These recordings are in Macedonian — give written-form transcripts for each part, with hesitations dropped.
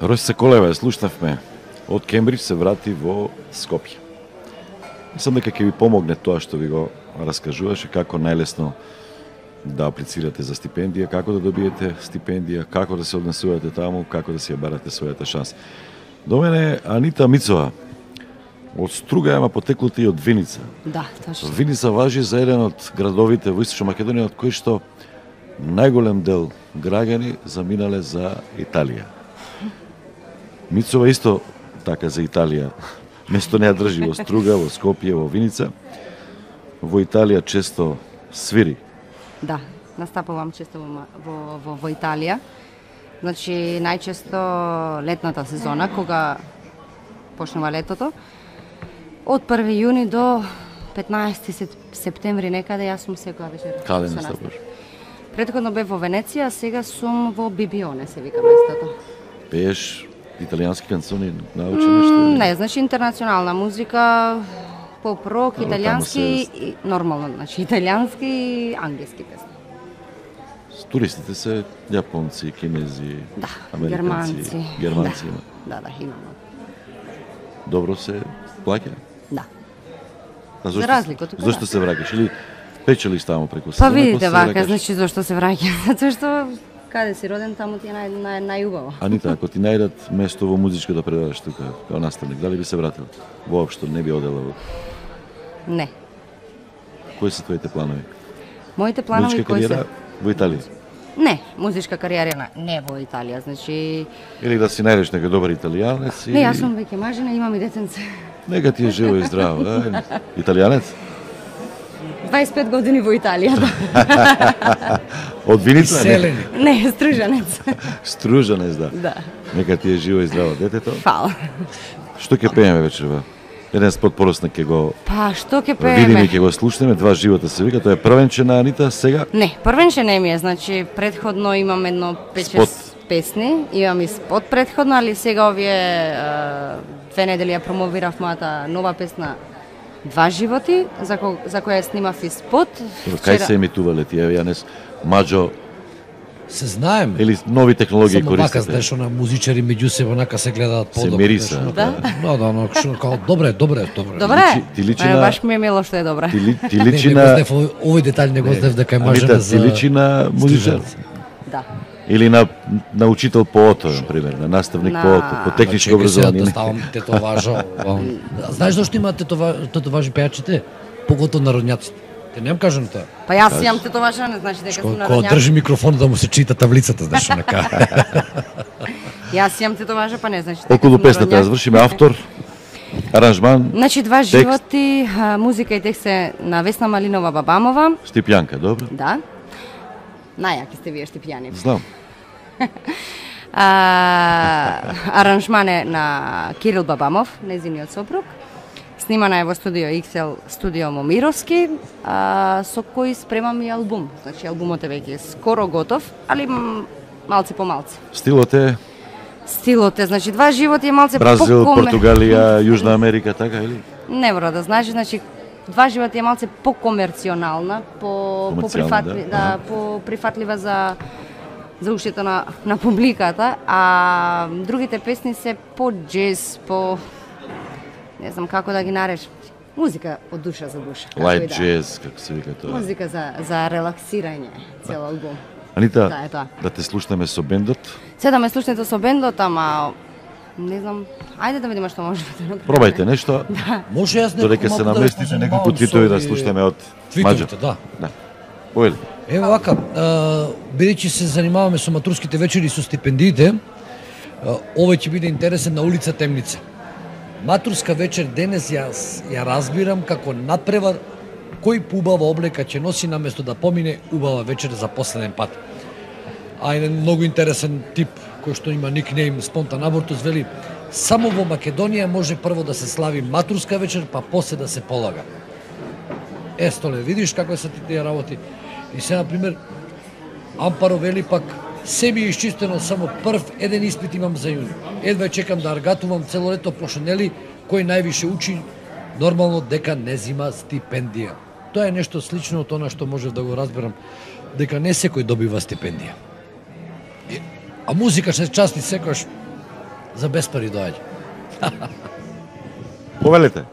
Росица Колева, слушнавме, од Кембридж се врати во Скопје. Мислам дека ќе ви помогне тоа што ви го раскажуваше, како најлесно да аплицирате за стипендија, како да добиете стипендија, како да се однесувате таму, како да си ја барате својата шанса. До мене Анита Мицова, од Струга, ама потеклото и од Виница. Да, точно. Виница важи за еден од градовите во Источна Македонија, од кои што најголем дел граѓани заминале за Италија. Мицова исто така за Италија. Место не ја држи во Струга, во Скопје, во Виница. Во Италија често свири. Да, настапувам често во Италија. Значи, најчесто летната сезона, кога почнува летото, од 1 јуни до 15 септември некаде, јас сум секоја вечер. Каде настапуваш? Претходно бев во Венеција, сега сум во Бибионе, се вика местото. Пееш италијански канцони, научи нешто? Не, значи интернационална музика, поп-рок, италијански, и нормално, значи италијански и англиски песни. Туристите се јапонци, кинези, Да, американци, германци. има. Да, имamo. Добро се плаќа? Да. А За разлика од тука. Зошто се враќаш? Или печелиш таму преку Па сезона? видите после се вака, враќаш? значи зашто се враќам? Затоа што каде си роден, таму ти е најубаво. Анита, ако ти најдат место во музичко да предаваш тука, као наставник, дали би се вратил? Воопшто не би одела во... Не. Кои се твоите планови? Моите планови Музичка кои кариера се? во Италија? Не, музичка кариера не во Италија, значи... Или да си најдеш некој добар италијанец? Не, јас сум веќе мажена, имам и детенце. Нека ти е живо и здраво. Италијанец? 25 години во Италија, да. Од Виница? Селени. Не, стружанец. Стружанец, да. Да. Нека ти е живо и здраво детето. Фала. Што ќе пееме вечерва? Еден спот поросна ќе го Па, што ќе видиме и пееме? ќе го слушнеме. Два живота се вика, тоа е првенче на Анита сега. Не, првенче не ми е, значи предходно имам едно 5-6 Спот. песни, имам и спот предходно, али сега овие 2 недели ја промовирав мојата нова песна Два животи, за која снимав и спот. Кај се емитувале тие? Јанес Маџо Се знаем. или нови технологии Само вака, користите? знаеш, на музичари меѓу себе онака се гледаат Се подобро. мириса. знаеш, Да? онака. Да, онака, што као, добре. Добре, ти личи Ај, на- баш ми е мило што е добра. Ти Не, личи не на... го знаев, овој детаљ не го знаев дека е Анита, мажена ти за... личи на музичар? Да. Или на учител по ото, например, на наставник по ото, по техничко образование. Да ставам тетоважа. Знаеш зашто има тетоважи пејачите? Поготово народњаците. Те не кажам тоа. Па јас имам тетоважа, не значи дека сум Кога народњак. држи микрофон да му се чита таблицата, знаеш, онака. Јас имам тетоважа, па не значи дека Околу сум песната ја народњак. завршиме автор, аранжман, Значи, Два текст. животи, музика и текст е на Весна Малинова Бабамова. Штипјанка, добро? Да. Најаки сте вие Штипјани. Знам. Аранжман е на Кирил Бабамов, незиниот сопруг. Снимана е во студио XL, студио Момировски, со кој спремам и албум. Значи, албумот е веќе скоро готов, али малце по малце. Стилот е Стилот е, значи, Два животи е малце Бразил, по-коме... Португалија, Јужна Америка, така или? Не мора да значи, Два животи е малце по-комерционална, Комерцијална, да. по-прифатлива за ушите на публиката, а другите песни се по-джез, не знам како да ги наречам. Музика од душа за душа. како и Light да. jazz, како се вика тоа. Музика за релаксирање, цел албум. Анита, Да, е тоа. да те слушнеме со бендот. Се да ме слушнете со бендот, ама не знам, ајде да видиме што можеме да направиме. Пробајте нешто, Може јас додека се наместите неколку твитови да слушнеме од Маџо. Твитовите, да. Да. Поели. Ево вака, бидејќи се занимаваме со матурските вечери и со стипендиите, овој ќе биде интересен на улица Темница. Матурска вечер денес ја разбирам како надпревар кој поубава облека ќе носи наместо да помине убава вечер за последен пат. А еден многу интересен тип кој што има никнейм Спонтан Абортус вели: само во Македонија може прво да се слави матурска вечер, па после да се полага. Столе, видиш како се тие работи. И се, например, Ампаро вели пак: се ми е исчистено, само прв еден испит имам за јуни. Едва чекам да аргатувам цело лето, пошто нели кој највише учи, нормално дека не зима стипендија. Тоа е нешто слично од она што можев да го разберам, дека не секој добива стипендија. А музика се части секојаш за без пари доаѓа. Повелете.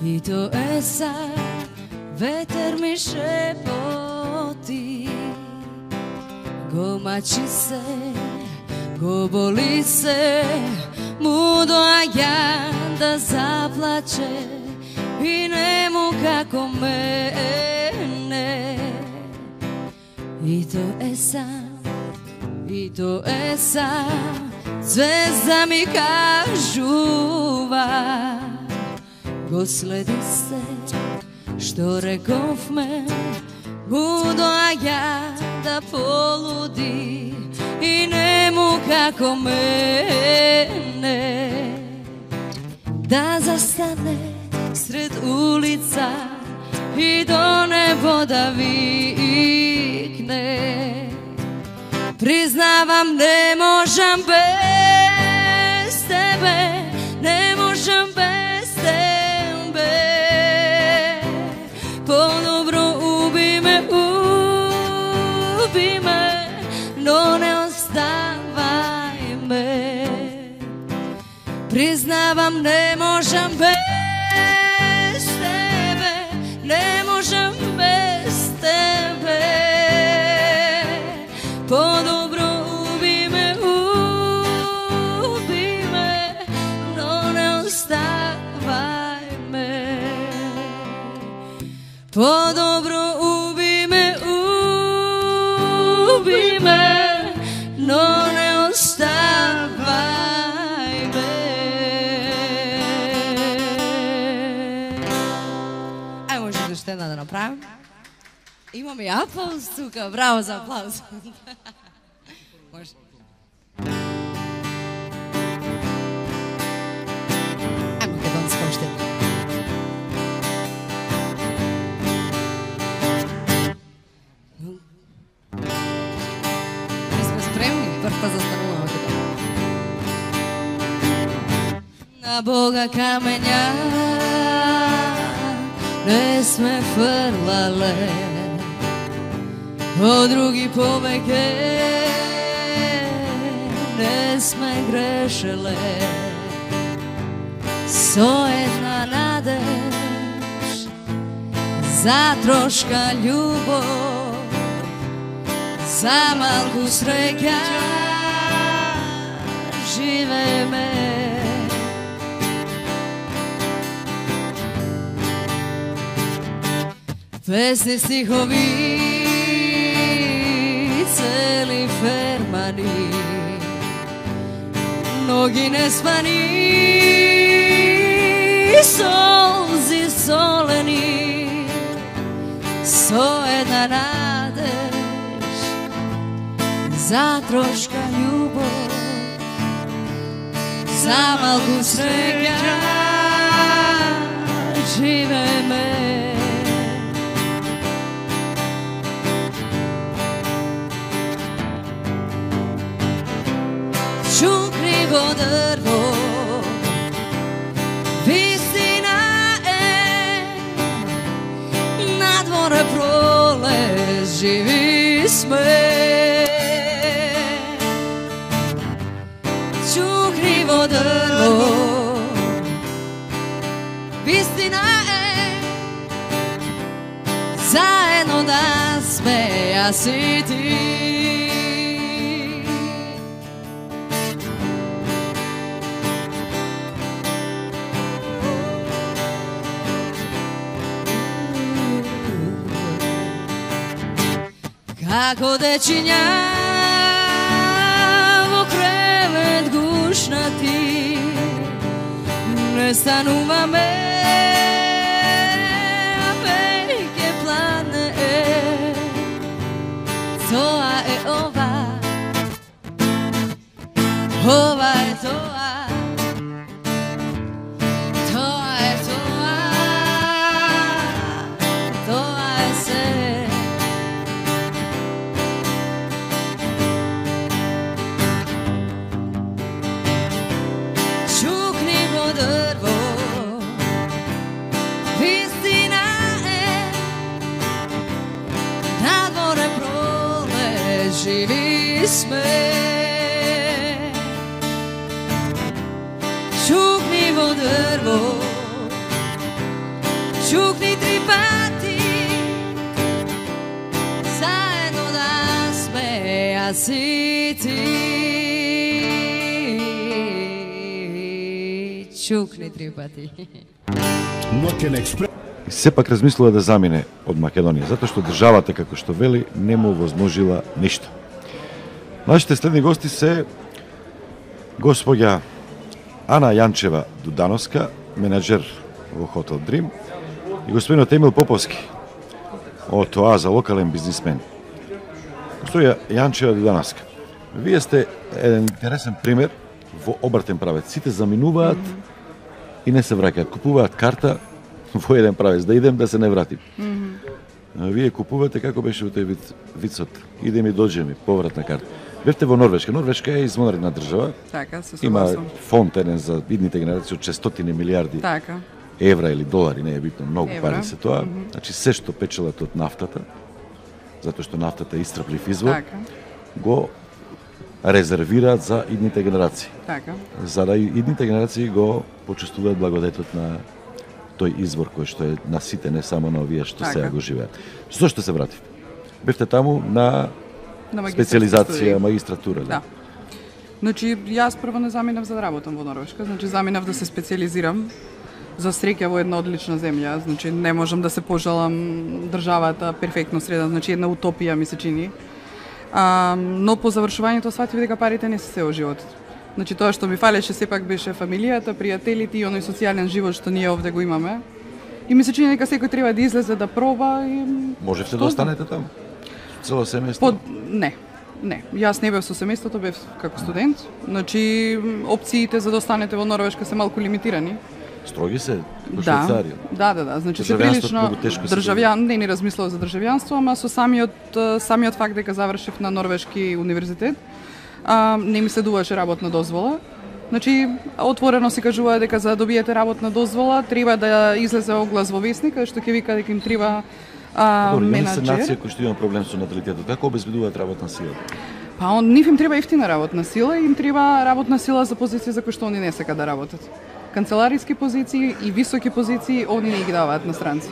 И то е сад, ветер ми шепоти, го мачи се, го боли се, му доаѓа да заплаче и нему како мене. И то е сам, звезда ми кажува, го следи се, што рековме, му доаѓа да полуди и нему како мене. Да застане сред улица и до небо да викне. Признавам, не можам без тебе, не можам без тебе. По-добро уби ме, но не оставај ме. Признавам, не можам без тебе, не можам без тебе. По-добро уби ме, но не оставај ме. По-добро уби ме, но не оставај ме. Ај, може да уште една да направим? Имаме и аплауз тука, браво за аплауз. Може. Ајмо македонска уште една. Не сме спремни, прва застанува Македонија. На Бога камења не сме фрлале, од други повеќе не сме грешеле. Со една надеж за трошка љубов, за малку среќа живееме. Песни, стихови, цели фермани, ноги неспани, солзи солени, со една надеж за трошка љубов, за малку среќа живееме. Чукриво дрво, вистина е, надворе пролез, живи сме. Чукриво дрво, вистина е, заедно да сме јас и ти. Како дечиња во кревет гушнати, не стануваме, а веќе пладне е. Тоа е ова, ова е тоа, тоа е тоа, тоа е се. живи сме. Чукни во дрво, чукни 3 пати, заедно да сме јас и ти. Чукни 3 пати. И сепак размислува да замине од Македонија, затоа што државата, како што вели, не му возможила ништо. Нашите следни гости се госпоѓа Ана Јанчева Дудановска, менеджер во Хотел Дрим, и господинот Емил Поповски, од Оаза, локален бизнисмен. Госпоѓа Јанчева Дудановска, вие сте еден интересен пример во обратен правец. Сите заминуваат и не се враќаат, купуваат карта во еден правец, да идем, да се не вратим. Вие купувате, како беше во тој вицот, идем и доđем, повратна карта. Бевте во Норвешка. Норвешка е извонредна држава. Така, се Има согласувам. фонд еден за идните генерации од 600 милиарди Така. евра или долари, не е битно, многу Евра. пари се тоа. Значи се што печелат од нафтата, затоа што нафтата е истраплив извор, Така. го резервираат за идните генерации. Така. За да и идните генерации го почувствуваат благодетот на тој извор кој што е на сите, не само на овие што Така. сега го живеат. Зошто се вратите? Бевте таму на На магистарски специализација, студии. магистратура. Да. Значи, јас прво не заминав за да работам во Норвешка, значи заминав да се специализирам. За среќа во една одлична земја, значи не можам да се пожалам државата перфектно средна, значи една утопија ми се чини. Но по завршувањето сватив дека парите не се се во животот. Значи тоа што ми фалеше сепак беше фамилијата, пријателите и оној социјален живот што ние овде го имаме. И ми се чини дека секој треба да излезе да проба и Можете Што да знам? останете таму? Цело семејство? Не. Не, јас не бев со семејството, бев како студент. Значи, опциите за да останете во Норвешка се малку лимитирани. Строги се, како Да, Швајцарија. да. Значи се Државјанството прилично многу тешко се не ни размислував за државјанство, ама со самиот факт дека завршив на Норвешки универзитет, не ми следуваше работна дозвола. Значи, отворено се кажува дека за да добиете работна дозвола треба да излезе оглас во весник, што ќе вика дека им треба Добро, има ли се менаџер. нација кои што има проблем со наталитетот? Како обезбедуваат работна сила? Па нив им треба ефтина работна сила, им треба работна сила за позиции за кои што они не сакаат да работат. Канцелариски позиции и високи позиции они не ги даваат на странци.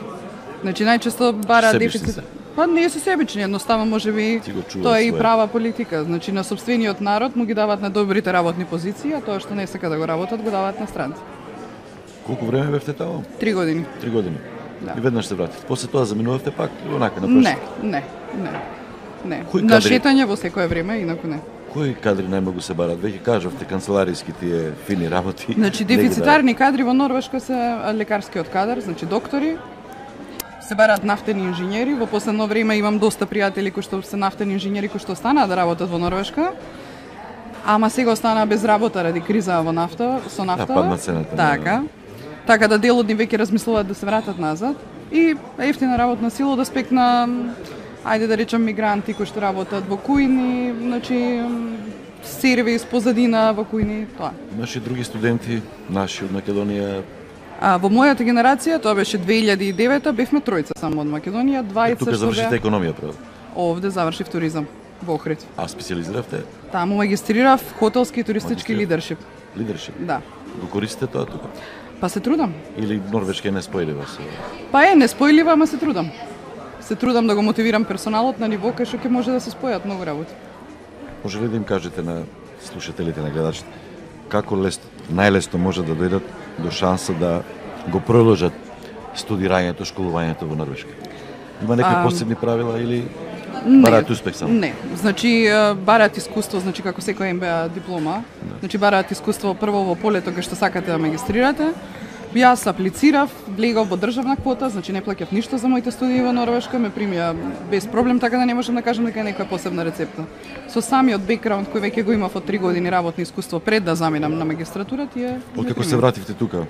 Значи најчесто бара Себични дефицит. се. Па не се себични, едноставно можеби Ти го чуваш тоа е и своје. права политика. Значи на сопствениот народ му ги даваат на добрите работни позиции, а тоа што не сака да го работат го даваат на странци. Колку време бевте таму? 3 години. 3 години. Да. И веднаш се вратите. После тоа заминувавте пак или онака на Не. Не. Кои На кадри? шетање во секое време, инаку не. Кои кадри најмногу се барат? Веќе кажавте канцелариски тие фини работи. Значи не ги дефицитарни кадри во Норвешка се лекарскиот кадар, значи доктори, се бараат нафтени инженери. Во последно време имам доста пријатели кои што се нафтени инженери кои што останаа да работат во Норвешка. Ама сега останаа без работа ради криза во нафта, со нафта. падна цената, Така. Така да дел од нив веќе размислуваат да се вратат назад и ефтина работна сила од аспект на ајде да речам мигранти кои што работат во кујни, значи сервис позадина во кујни, тоа. Имаше и други студенти, наши од Македонија. Во мојата генерација, тоа беше 2009, бевме тројца само од Македонија, двајца Тука што завршите беа економија право. овде завршив туризам во Охрид. А специализиравте Таму магистрирав хотелски и туристички Магистрирав. лидершип. лидершип. Да. Го користите тоа тука? Па се трудам. Или Норвешка е неспојлива со... Па е неспојлива, ама се трудам. Се трудам да го мотивирам персоналот на ниво кај што ќе може да се спојат многу работи. Може ли да им кажете на слушателите, на гледачите, како најлесно може да дојдат до шанса да го продолжат студирањето, школувањето во Норвешка? Има некои посебни правила или бараат успех само? Не, значи бараат искуство, значи како секоја МБА диплома. Значи бараат искуство прво во полето кај што сакате да магистрирате. Јас аплицирав, влегов во државна квота, значи не плаќав ништо за моите студии во Норвешка, ме примија без проблем, така да не можам да кажам дека е некоја посебна рецепта. Со самиот бекграунд кој веќе го имав од 3 години работно искуство пред да заминам на магистратура, тие Откако се вративте тука,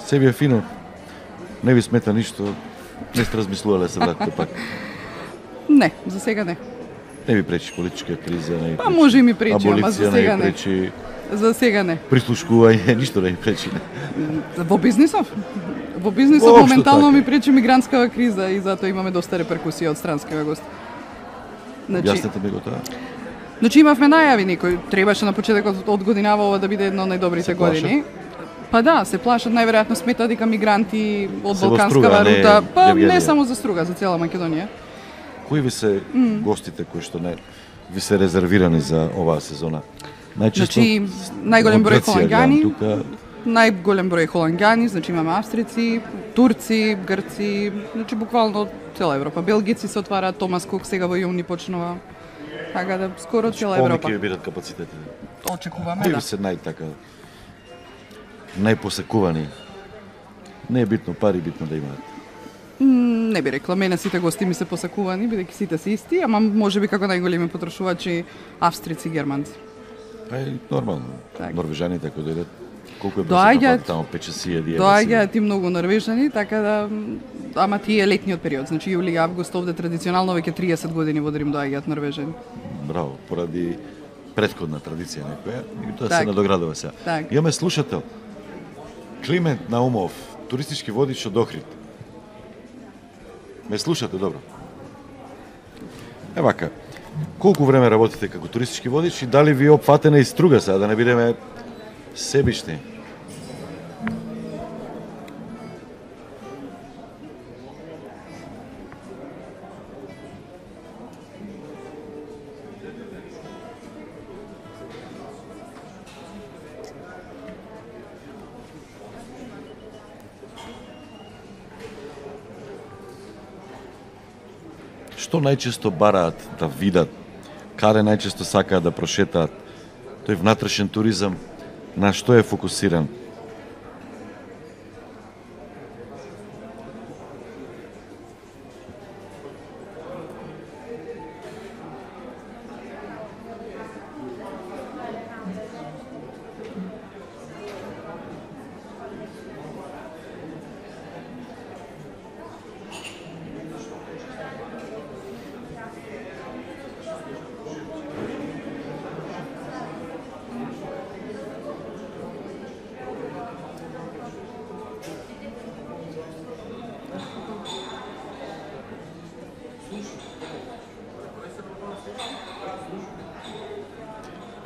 се е фино, не ви смета ништо, не сте размислувале да се вратите пак. Не, за сега не. Не ви пречи политичка криза, не ви Па пречи може и ми пречи, ама за аболиција, сега не ви не. пречи За сега не. прислушкување, ништо не ви пречи. Во бизнисов? Во бизнисов Воопшто моментално така. ми пречи мигрантскава криза и затоа имаме доста реперкусија од странскива гости. Објаснете ми го тоа. Значи имавме најави некој, требаше на почетокот од годинава ова да биде една од најдобрите години. Па да, се плашат, најверојатно сметаат дека мигранти од балканскава рута, па не само за Струга, за цела Македонија. Кои ви се гостите кои што не ви се резервирани за оваа сезона? Најчесто Значи најголем број од Грција холанѓани, гледам тука. најголем број холанѓани, значи имаме австрици, турци, грци, значи буквално од цела Европа. Белгици се отвараат, Томас Кук сега во јуни почнува. Така да скоро цела Колку Европа. ќе ви бидат капацитетите? Очекуваме Кои да. ви се најпосекувани? Не е битно пари, битно да имаат. Не би рекла, мене сите гости ми се посакувани, бидејќи сите се исти, ама можеби како најголеми потрошувачи австрици, германци. Па е нормално. Така. Норвежаните кои дојдат, колку е Доаѓаат- таму 5-6 дија. Доаѓаат и многу норвежани, така да ама тие летниот период, значи јули и август овде традиционално веќе 30 години во Рим доаѓаат норвежани. Браво, поради претходна традиција некоја, и тоа се Так. надоградува сега. Так. Имаме слушател. Климент Наумов, туристички водич од Охрид. Ме слушате добро? Вака, колку време работите како туристички водич и дали ви е опфатена и Струга сега, да не бидеме себични? Што најчесто бараат да видат, каде најчесто сакаат да прошетаат, тој внатрешен туризам, на што е фокусиран?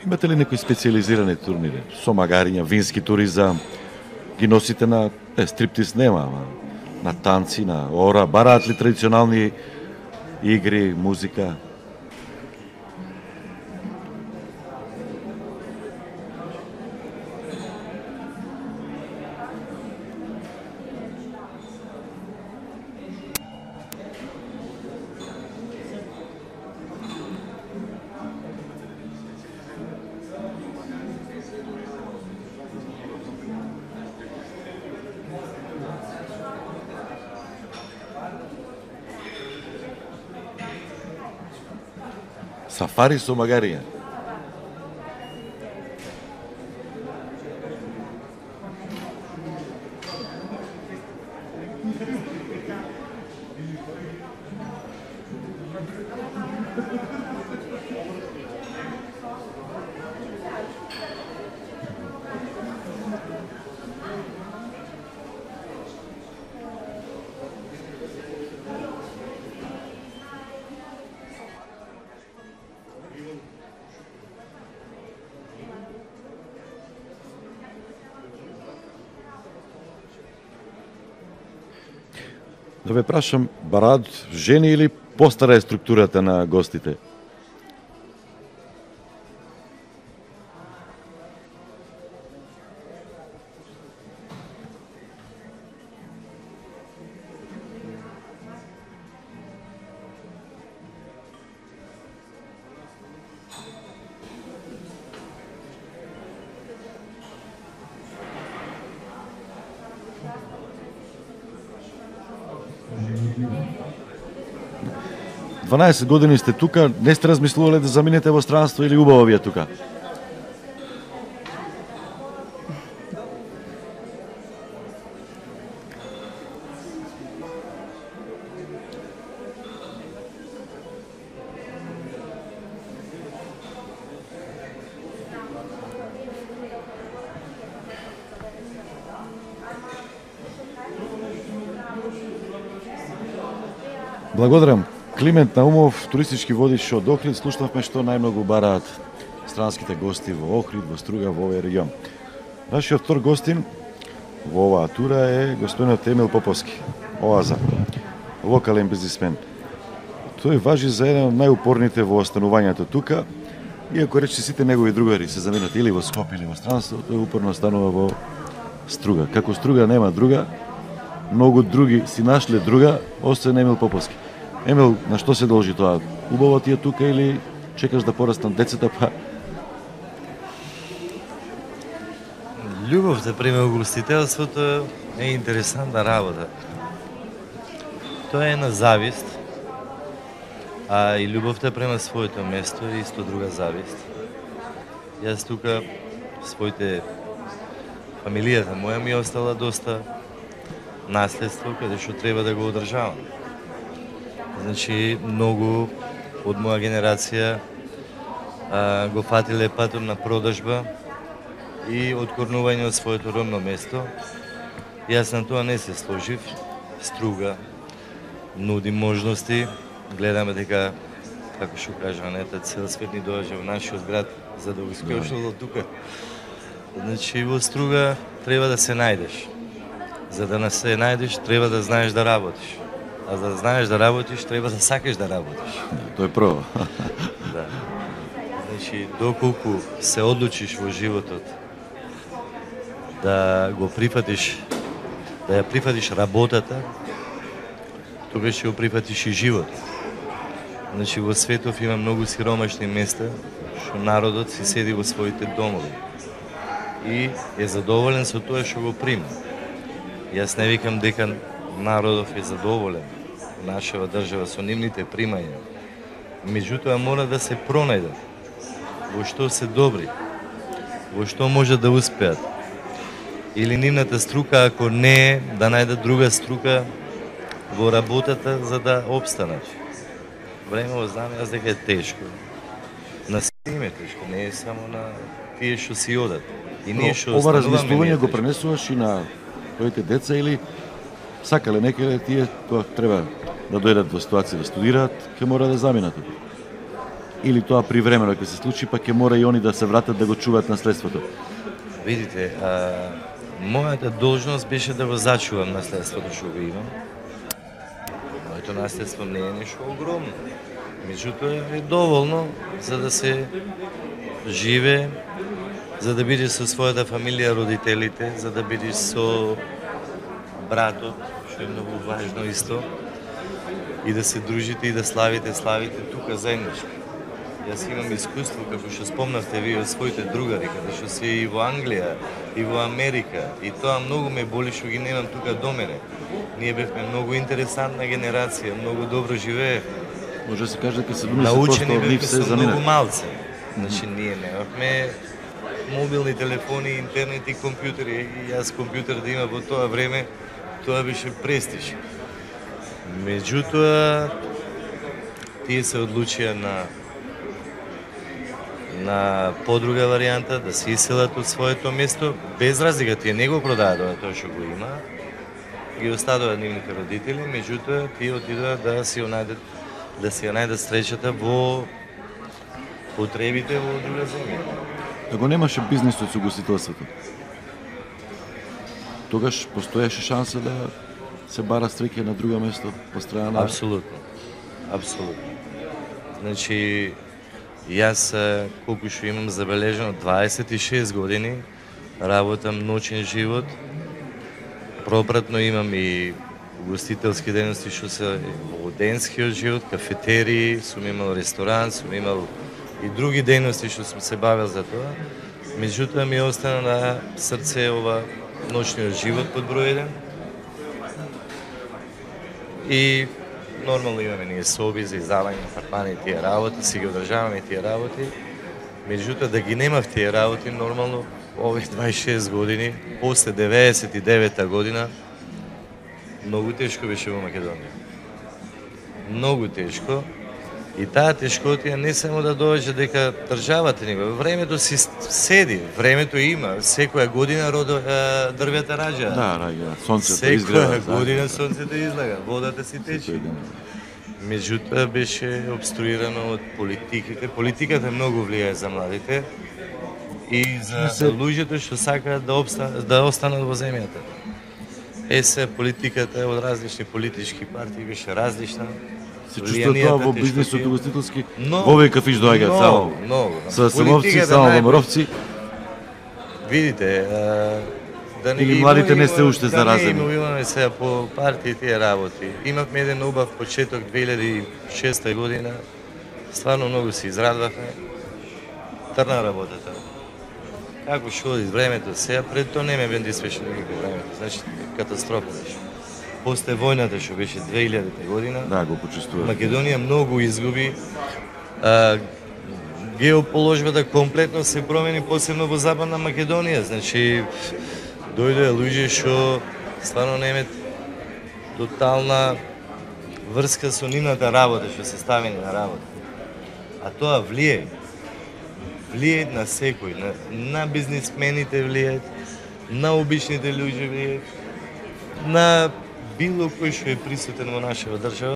Имате ли некои специализирани турнири? Со магариња, вински туризам, ги носите на стриптиз нема, ама на танци, на ора, бараат ли традиционални игри, музика? Сафари со магариња. Да ве прашам, бараат жени или постара е структурата на гостите? – 12 години сте тука, не сте размислувале да заминете во странство или убаво ви е тука? Благодарам. Климент Наумов, туристички водич од Охрид, слушнавме што најмногу бараат странските гости во Охрид, во Струга, во овој регион. Нашиот втор гостин во оваа тура е господинот Емил Поповски, Оаза, локален бизнисмен. Тој важи за еден од најупорните во останувањето тука, иако рече сите негови другари се заминат или во Скопје или во странство, тој упорно останува во Струга. Како Струга нема друга, многу други си нашле друга, освен Емил Поповски. Емил, на што се должи тоа? Убаво ти е тука или чекаш да пораснат децата, па? Љубовта према угостителството е интересантна работа. Тоа е една завист, а и љубовта према своето место е исто друга завист. Јас тука, своите фамилијата моја ми остала доста наследство, каде што треба да го одржавам. Значи, многу од моја генерација го фатиле патот на продажба и откорнување од своето родно место. Јас на тоа не се сложив. Струга нуди можности. Гледаме дека, како што кажа Анета, цел свет ни доаѓа во нашиот град за да го искојаш од тука. Значи, во Струга треба да се најдеш. За да се најдеш, треба да знаеш да работиш. А за да знаеш да работиш, треба да сакаш да работиш. Тоа е прво. Да. Значи, доколку се одлучиш во животот да го прифатиш, да ја прифатиш работата, тогаш ќе го прифатиш и живот. Значи, во светов има многу сиромашни места, што народот си седи во своите домови и е задоволен со тоа што го прима. Јас не викам дека народов е задоволен, нашава држава со нивните примања. Меѓутоа мора да се пронајдат во што се добри, во што може да успеат. Или нивната струка, ако не е, да најдат друга струка во работата за да обстанат. Времево знам јас дека е тешко. На сите им е тешко, не е само на тие што си одат. И ние што ова остануваме размислување го тешко. пренесуваш и на твоите деца или сакале некаде тие тоа треба да дојдат во ситуација да студираат, ќе мора да заминат. Или тоа привремено ќе се случи, па ќе мора и они да се вратат да го чуваат наследството. Видите, мојата должност беше да го зачувам наследството што го имам. Моето наследство не е нешто огромно. Меѓутоа е доволно за да се живе, за да бидеш со својата фамилија, родителите, за да бидеш со братот, што е многу важно исто, и да се дружите и да славите тука заеднички. Јас имам искуство, како што спомнавте вие, од своите другари, каде што се и во Англија, и во Америка, и тоа многу ме боли што ги немам тука до мене. Ние бевме многу интересантна генерација, многу добро живеевме. Може да се каже дека 70% Научени од нив бевме се со многу заминат. малце. Значи, ние немавме мобилни телефони, интернет и компјутери. И јас компјутер да има во тоа време, тоа беше престиж. Меѓутоа, тие се одлучија на подруга варијанта, да се иселат од своето место, без разлика, тие не го продадоа тоа што го има, ги оставаа нивните родители, меѓутоа тие отидоа да си ја најдат среќата во потребите во друга земја. Да го немаше бизнисот со гостителството. Тогаш постоеше шанса да се бара среќа на друго место по страна на... Апсолутно. Апсолутно. Значи, јас колку што имам забележено 26 години, работам ноќен живот. Пропратно имам и угостителски дејности што се во денскиот живот, кафетерии, сум имал ресторан, сум имал и други дејности што сум се бавел за тоа. Меѓутоа ми остана на срце ова ноќниот живот под број 1. И нормално имаме ние соби за издавање на апартмани и тие работи, си ги одржаваме тие работи. Меѓутоа да ги немав тие работи, нормално овие 26 години, после 99-та година, многу тешко беше во Македонија. Многу тешко. И таа тешкотија не само да доаѓа дека државата ни го, времето си седи, времето има, секоја година дрвета раѓаат. Да, раѓа, сонцето изгрева. Секоја година сонцето излага, водата си тече. Меѓутоа беше обструирано од политиките. Политиката многу влијае за младите и за луѓето што сакаат да останат во земјата. Се политиката од различни политички партии беше различна. Се чувствува тоа во бизнисот угостителски? Во овој кафиш доаѓаат само со самовци, само домаровци. Видите, да не или младите не се уште заразени. Да не имаме сега по партии тие работи. Имавме еден убав почеток 2006 година. Стварно многу се израдвавме. Трна работата. Како што оди времето сега, пред тоа не ме бендисвеше никако времето. Значи, катастрофа беше. После војната што беше 2000 година, да, го почувствував. Македонија многу изгуби. Геоположбата комплетно се промени, посебно во Западна Македонија. Значи, дојде луѓе што стварно немаат тотална врска со нивната работа, што се ставени на работа. А тоа влијае. Влијаат на секој, на бизнисмените влијаат, на обичните луѓе влијаат, на било кој што е присутен во нашава држава.